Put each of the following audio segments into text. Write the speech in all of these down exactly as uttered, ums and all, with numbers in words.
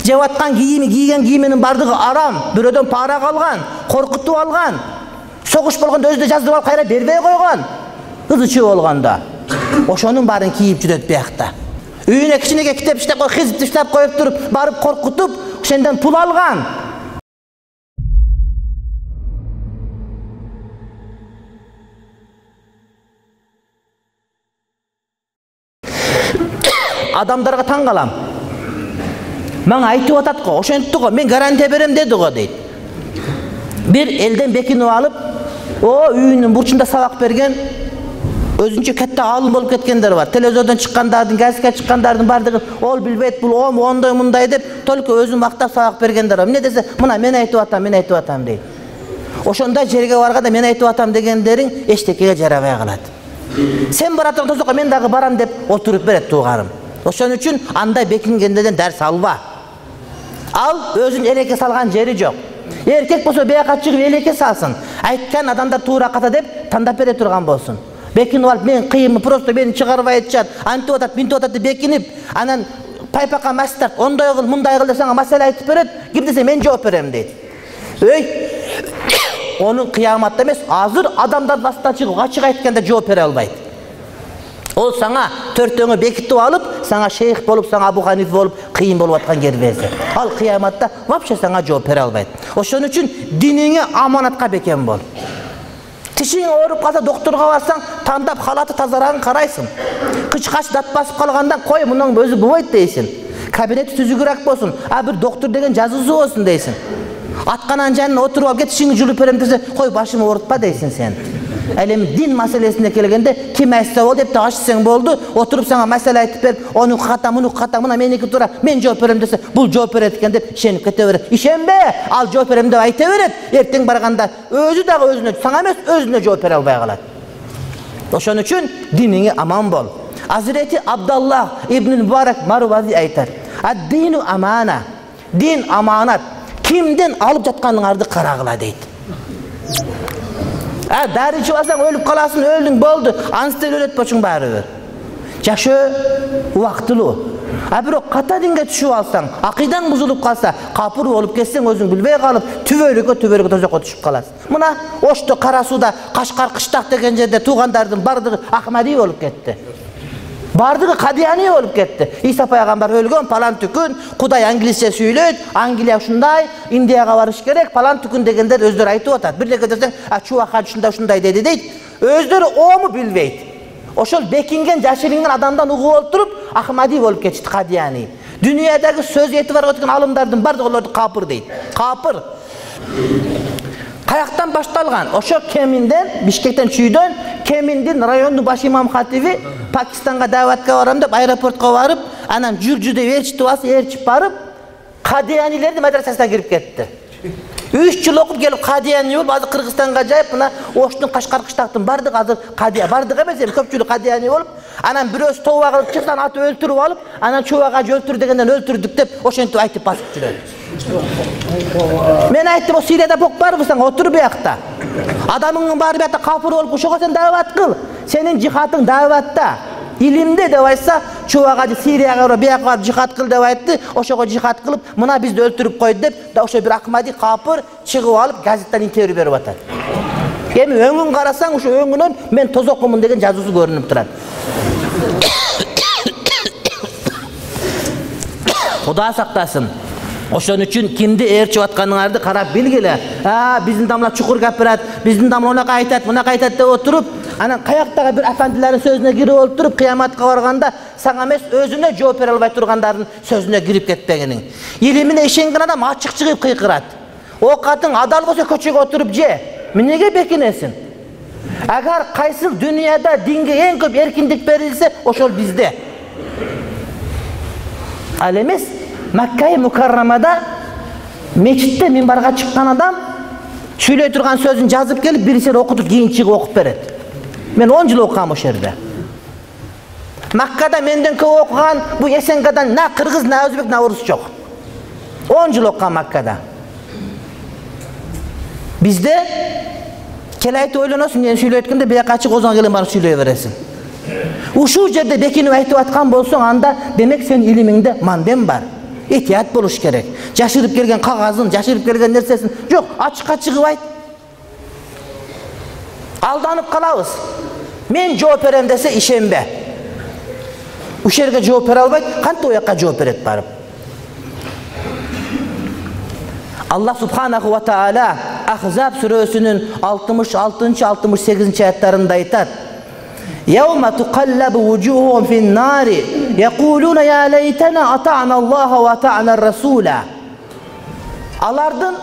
жеп аткан кийими, кийген кийиминин бардыгы арам, бирөөдөн пара калган, коркутуп алган. Согуш болгондо өзү да жаздырып алып кайра бербей койгон. Кызычы болгондо ошонун баарын кийип жүрөт биякта. Үйүнө кичинеге китеп иштеп коюп, хизип иштеп коюп туруп, барып коркутуп, ошондон пул алган. Адамдарга таң калам. Мага айтып атат го, ошентти го, мен гарантия берем деди го дейт. Бир элден бекинип алып, о үйүнүн бурчунда сабак берген, өзүнчө кетте алым болуп кеткендер бар. Телевизордон чыккандардын, газетке чыккандардын бардыгы ол билбейт, бул ом ондой мындай деп, только өзүн мактап сабак бергендер бар. Эмне десе, мына мен айтып атам, мен айтып атам дейт. Ошондой жерге барганда мен айтып атам дегендериң эчтекеге жарабай калат. Сен баратың тозокко, мен дагы барам деп отуруп берет туугарым. Ошон үчүн андай бекингендерден дарс алба. Ал өзүн элекке салган жери жок. Эркек болсо бияка чыгып элекке салсын. Айткан адамдар туура ката деп тандап бере турган болсун. Бекинип алып, мен кыйымы просто мени чыгарбай атышат, антип атат, минтип атат деп бекинип, анан пайпакка мастар, ондой кыл, мындай кыл деп сага маселе айтып берет, ким десе мен жооп берем дейт. Өй, онун кыяматта эмес, азыр адамдардын астынан чыгып ачык айтканда жооп бере албайт. Ол саңа төртөңө бекитип алып, саңа шейх болуп, саңа Абу Ханиф болуп, кыйын болуп аткан кербези. Ал кыяматта вообще саңа жооп бере албайт. Ошон үчүн диниңе аманатка бекем бол. Тишиң ооруп калса докторго барсаң, тандап халаты тазарагын карайсың. Кычкач дат басып калгандан кой, мунун өзү болбойт дейсиң. Кабинети түзүгүрөөк болсун, а бир доктор деген жазуусу болсун дейсиң. Атканан жанына отуруп алып, тишиңди жулуп берем десе, кой башымы оорутпа дейсиң сен. Ал эми дин маселесине келгенде ким айтса бол деп тагышсаң болду, отуруп сага маселе айтып берип, ону ката, муну ката, мына меники туура, мен жооп берем десе, бул жооп берет экен деп ишенип кете берет. Ишенбе, ал жооп берем деп айта берет. Эртең барганда өзү дагы өзүнө, сага эмес, өзүнө жооп бере албай калат. Ошон үчүн диниңе аман бол. Азирети Абдаллах ибн Мубарак Марвази айтат: "Ад-дину амана." Дин аманат. Кимден алып жатканыңарды карагыла дейт. А дары ичип алсаң өлүп каласың, өлдүң, болду. Анстен өлөт болчуң баары. Жашоо убактылуу. А бирок ката динге түшүп алсаң, акыйдаң бузулуп калса, капыр болуп кетсең, өзүң билбей калып, түбөлүккө түбөлүккө тозокко түшүп каласың. Мына Ошто Кара сууда Кашкар Кыштак деген жерде туугандардын бардыгы Ахмади болуп кетти. Бардыгы Кадияни болуп кетти. Иса пайгамбар өлгөн, палан түкүн, Кудай англисче сүйлөйт, Англия ушундай, Индияга барыш керек, палан түкүн дегендер өздөрү айтып атат. Бирдеке десең, а чубака ушундай ушундай деди дейт. Өздөрү ому билбейт. Ошол бекинген жашырынган адамдан угуп отуруп, Ахмади болуп кетишти, Кадияни. Дүйнөдөгү сөз эти бар өткөн алымдардын бардыгы олорду капыр дейт. Капыр. Каяктан башталган? Ошо Кеминден, Бишкектен чүйдөн, Кеминдин райондун баш имам хатиби Пакистанга даватка барам деп аэропортко барып, анан жүржү деп ээрчитип алса, ээрчип барып, Кадиянилердин мадрасасына кирип кетти. үч жыл окуп келип Кадияни болуп, азыр Кыргызстанга жайып, мына Оштун Кашкар Кыштактын бардыгы азыр Кадия, бардыгы эмес, эми көпчүлүк Кадияни болуп, анан бирөөсү тооба кылып чыксан аты өлтүрүп алып, анан чубага өлтүр дегенден өлтүрдүк деп ошентип айтып басып жүрөт. Мен айттым, о Сирияда бок барбы сен, отур биякта. Адамыңдын баары биякта капыр болуп, ошого сен дават кыл. Сенин жихатың даватта. Илимде деп айтса, чубага Сирияга барып, бияка барып жихат кыл деп айтты, ошого жихат кылып, мына бизди өлтүрүп койду деп, да ошо бир Ахмади капыр чыгып алып, газеттен интервью берип атат. Эми өңүн карасаң, ошо өңүнөн мен тозоккумун деген жазуусу көрүнүп турат. Кудай сактасын. Ошон үчүн кимди ээрчип атканыңарды карап билгиле. А, биздин дамла чукур капырат, биздин дамла унака айтат, мунака айтат деп отуруп, анан каяктагы бир афандилердин сөзүнө кирип отуруп, кыяматка барганда сага эмес өзүнө жооп бере албай тургандардын сөзүнө кирип кетпегиниң. Илимине ишенген адам ачык чыгып кыйкырат. Оокатың адал болсо көчөгө отуруп же. Эмнеге бекинесиң? Агар кайсыл дүйнөдө динге эң көп эркиндик берилсе, ошол бизде. Ал эмес Макка Мукаррамада мечитте минбарга чыккан адам сүйлөй турган сөзүн жазып келип, бирисине окутуп, кийин чыгып окуп берет. Мен он жыл окугам ошол жерде. Маккада менден көп окуган бу Эсенгадан на кыргыз, на өзбек, на орус жок. он жыл окугам Маккада. Бизде келайты ойлоносуң, мен сүйлөй өткөндө бияка чыгып озон келин барып сүйлөй бересиң. Ушул жерде бекинип айтып аткан болсоң, анда демек сен илимиңде мандем бар. этият болуш керек. Жашырып келген кагазын, жашырып келген нерсесин жок, ачыкка чыгыбайт. Алданып калабыз. Мен жооп берем десе ишенбе. Ушул жерге жооп бере албайт, кантип оякка жооп берет барып? Аллах субханаху ва таала Ахзаб сүрөсүнүн алтымыш алтынчы алтымыш сегизинчи аяттарында айтат: "Yawma tuqallabu wujuhum fin-nari yaquluna ya laytana ata'na Allaha wa ata'na ar-rasula." Алардын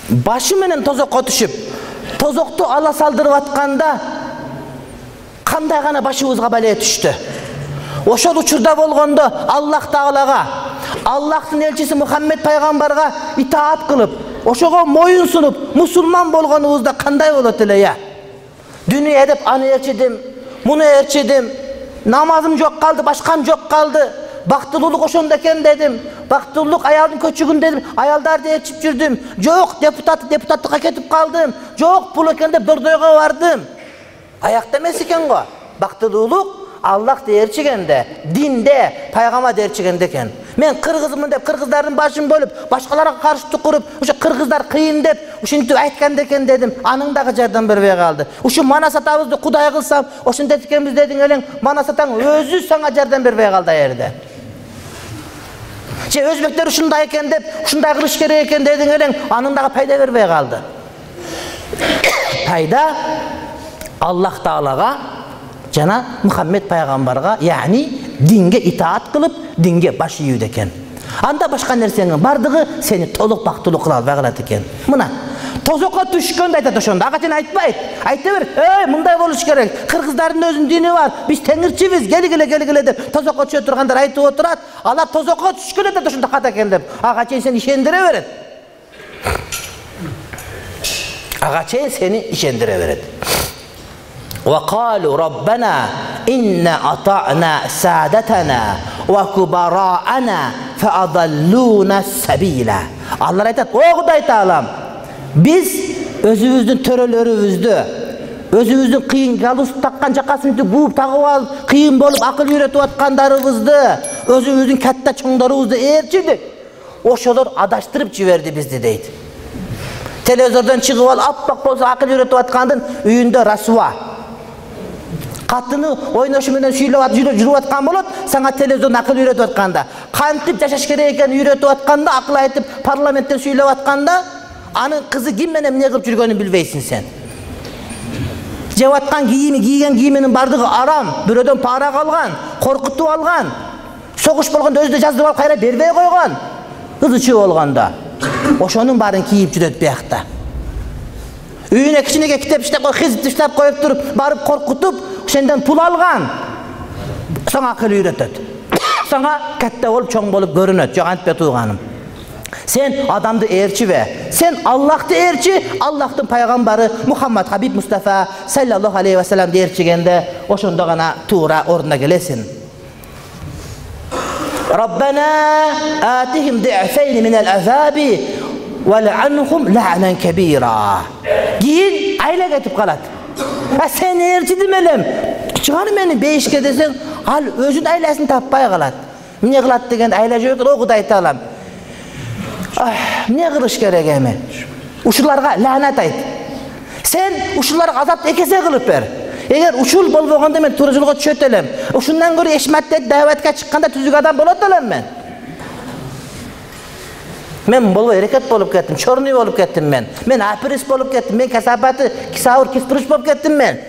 башы менен тозокко түшүп, тозокту ала салдырып атканда кандай гана башыбызга бале түштү. Ошол учурда болгондо Аллах Таалага, Аллахтын элчиси Мухаммед пайгамбарга итаат кылып, ошого моюн сунуп, мусулман болгонубузда кандай болот эле я? Дүнүйө деп аны ээрчидим, муну ээрчидим, намазым жок калды, башкам жок калды, бактылуулук ошондо экен дедим, бактылуулук аялдын көчүгүн дедим, аялдарды ээрчип жүрдүм, жок депутат депутаттыкка кетип калдым, жок бул экен деп дордойго бардым. Аякта эмес экен го. Бактылуулук Аллах ээрчигенде, динде, пайгамбар ээрчигенде экен. Мен кыргызмын деп кыргыздардын башын бөлүп, башкаларга каршы куруп, ошо кыргыздар кыйын деп ушинтип айтканда экен дедим. Анын дагы жардам бербей калды. Ушу манас атабызды Кудай кылсам, ошондой экенбиз дедиң элең, манас атаң өзү сага жардам бербей калды аерде. Же өзбектер ушундай экен деп, ушундай кылыш керек экен дедиң элең, анын дагы пайда бербей калды. Пайда Аллах Таалага жана Мухаммед пайгамбарга, яни динге итаат кылып, динге баш ийүү экен. Анда башка нерсенин бардыгы сени толук бактылуу кыла албай калат экен. Мына тозокко түшкөндө айтат ошондо. Ага сен айтпайт. Айта бер, "Эй, мындай болуш керек. Кыргыздардын өзүнүн дини бар. Биз теңирчибиз, келгиле, келгиле" деп тозокко түшө тургандар айтып отурат. Алар тозокко түшкөн айтат ошондо ката экен деп. Ага чейин сени ишендире берет. Ага чейин сени ишендире берет. وقالوا ربنا إن أطعنا سادتنا وكبراءنا فأضلونا السبيل. Алар айтат: "О Кудай Таалам, биз өзүбүздүн төрөлөрүбүздү, өзүбүздүн кыйын галус таккан жакасын бууп тагып алып, кыйын болуп акыл үйрөтүп аткандарыбызды, өзүбүздүн катта чоңдорубузду ээрчидик. Ошолор адаштырып жиберди бизди" дейт. Телевизордон чыгып алып, аппак болсо акыл үйрөтүп аткандын үйүндө расуа. Катыны ойношу менен сүйлөп жүрүп аткан болот, сага телевизордон акыл үйрөтүп атканда, кантип жашаш керек экенин үйрөтүп атканда, акыл айтып парламенттен сүйлөп атканда, анын кызы ким менен эмне кылып жүргөнүн билбейсиң сен. Жеп аткан кийими, кийген кийиминин бардыгы арам, бирөөдөн пара алган, коркутуп алган, согуш болгондо өзү жаздырып алып кайра бербей койгон. Кызы чүй болгондо ошонун баарын кийип жүрөт биякта. Үйүнө кичинеге китеп иштеп коюп, хизип иштеп коюп туруп, барып коркутуп, ошондон пул алган. Сага акыл үйрөтөт. Сага катта болуп, чоң болуп көрүнөт. Жок, антпе тууганым. Сен адамды ээрчибе. Сен Аллахты ээрчи, Аллахтын пайгамбары Мухаммад Хабиб Мустафа саллаллаху алейхи ва салламды ээрчигенде ошондо гана туура ордуна келесиң. Rabbana atihim di'fayn min al-azabi وَلَعَنْهُمْ لَعْنًا كَبِيرًا. Giyin ayla ketip kalat. Ha sen erçidim elem. Çıgar meni beşke desen, al özün aylasını tapmay kalat. Ne kılat degen ayla yok, o Kuday Taalam. Ah, ne kılış gerek hemen. Uşullarga lanet ayt. Sen uşullarga azap ekese kılıp ber. Eğer uşul bolboganda men turujulga düşöt elem. Uşundan göre eşmattet davetke çıkkanda tüzük adam bolot elem men. Men bolbo ereket bolup kettim, çornuy bolup kettim men. Men apiris bolup kettim, men kasapatı kisavur kisturuş bolup kettim men.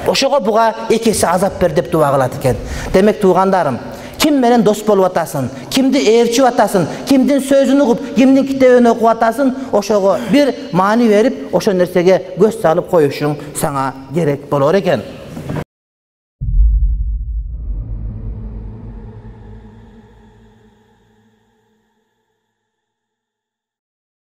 Oşogo buga ekesi azap ber dep dua kılat eken. Demek tuğandarım, kim menen dos bolup atasın, kimdi ээрчип atasın, kimdin sözünü ugup, kimdin kitebini okup atasın, oşogo bir mani verip, oşo nersege göz salıp koyuşun sana gerek bolor eken.